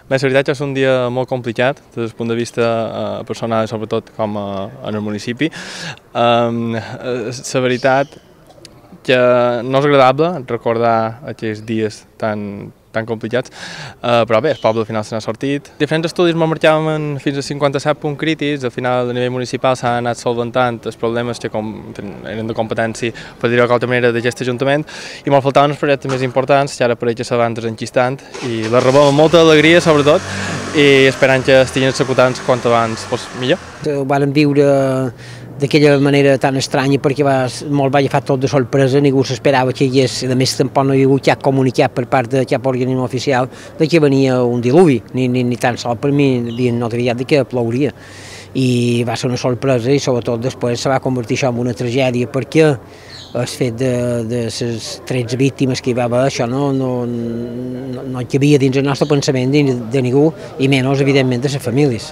Bé, la veritat és un dia molt complicat des del punt de vista personal, sobretot com en el municipi. La veritat que no és agradable recordar aquests dies tan complicats, però bé, el poble al final se n'ha sortit. Diferents estudis ens marcaven fins a 57 punts crítics, al final a nivell municipal s'han anat solventant els problemes que eren de competència, per dir-ho d'alguna manera, d'aquest ajuntament, i me'n faltaven els projectes més importants, que ara pareix que se van desenquistant, i les rebem amb molta alegria, sobretot, i esperant que estiguin executant quant abans fos millor. Ho vàrem viure d'aquella manera tan estranya perquè molt va agafar tot de sorpresa, ningú s'esperava que hi hagués, a més tampoc no hi ha hagut cap comunicat per part de cap organisme oficial de que venia un diluvi, ni tan sols per mi havien notificat de que plouria. I va ser una sorpresa i sobretot després se va convertir això en una tragèdia perquè el fet de les 13 víctimes que hi va haver, això no hi havia dins el nostre pensament de ningú i menys evidentment de les famílies.